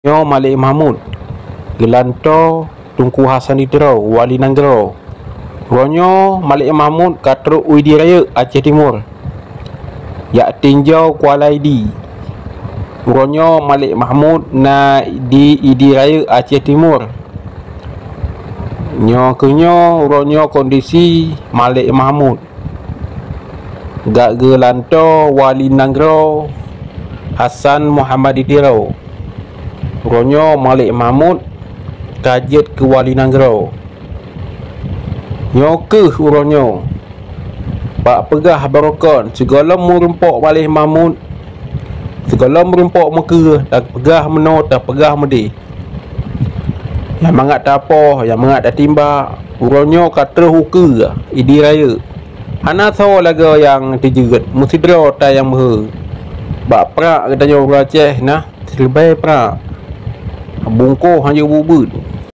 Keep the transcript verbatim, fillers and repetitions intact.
Nyoe Malik Mahmud, geulantoe Teungku Hasan di Tiro, Wali Nanggroe. Uroe nyoe Malik Mahmud ka trok u Idi Rayeuk, Aceh Timur, jak tinjau Kuala Idi. Uroe nyoe Malik Mahmud na di Idi Rayeuk, Aceh Timur. Nyoe keuh nyoe, uroe nyoe kondisi Malik Mahmud, gak geulantoe Wali Nanggroe Hasan Muhammad di Tiro. Uroe nyoe Malik Mahmud ka jeuet keu Wali Nanggroe. Nyoe keuh uroe nyoe, bak peugah barokon sigohlom meurumpok Malik Mahmud, sigohlom meurumpok meukeue, tapeugah meunoe, tapeugah meudeh. Nyang mangat tapoh, nyang mangat tatimbak, uroe nyoe ka troh ukeue Idi Rayeuk. Hana soe lagée nyang teujeuet, meusidroe that nyang meuhôi. Bak prak geutanyoe ureuëng Aceh na siribée prak, bungkôh hana jeuet bubeuen.